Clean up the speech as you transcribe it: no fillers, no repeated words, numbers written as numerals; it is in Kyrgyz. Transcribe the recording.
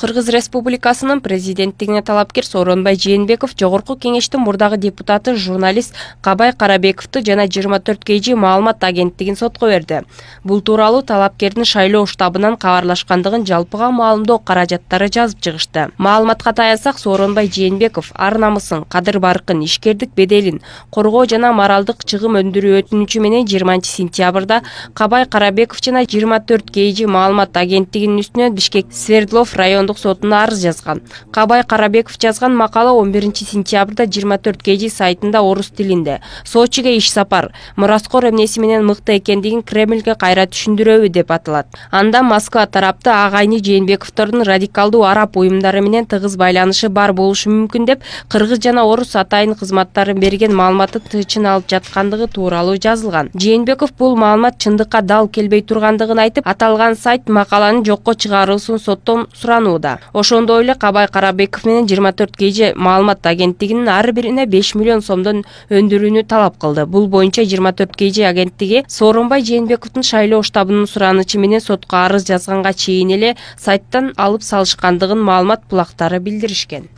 Кыргыз Республикасынын президенттигине талапкер Сооронбай Жээнбеков Жогорку Кеңештин мурдагы депутаты журналист Кабай Карабековду жана 24 KG маалымат агенттигин сотко берди. Бул тууралуу талапкердин шайлоо штабынан кабарлашкандыгын жалпыга маалымдоо каражаттары жазып чыгышты. Маалыматка таянсак, Сооронбай Жээнбеков ар намысын, кадыр-баркын, ишкердик беделин коргоо жана моралдык чыгым өндүрүү өтүнүчү менен 20 сентябрда Кабай Карабеков жана 24 KG маалымат агенттигинин үстүнөн Бишкек Свердлов райондук сотуна арыз жазган. Кабай Карабеков жазган макала 11 сентябрда 24 KG сайтында орус тилинде. Сочиге иш сапар, мураскор эмнеси менен мыкты экендигин Кремльге кайра түшүндүрөбү деп аталат. Анда Москва тарапты агайны Жээнбековдордун радикалдуу араб уюмдары менен тыгыз байланышы бар болушу мүмкүн деп кыргыз жана орус атайын кызматтарын берген маалыматты тыйчын алып жаткандыгы тууралуу жазылган. Жээнбеков бул маалымат чындыкка дал келбей тургандыгын айтып, аталган сайт макаланын жокко чыгарылышын соттон суранууда. Ошондой эле Кабай Карабеков менен 24 KG маалымат агенттигинин ар бирине 5 миллион сомдон өндүрүүнү талап кылды. Бул боюнча 24 KG агенттиги Сооронбай Жээнбековдун шайлоо штабынын суранычы менен сотко арыз жазганга чейин эле сайттан алып салышкандыгын маалымат булактары билдиришкен.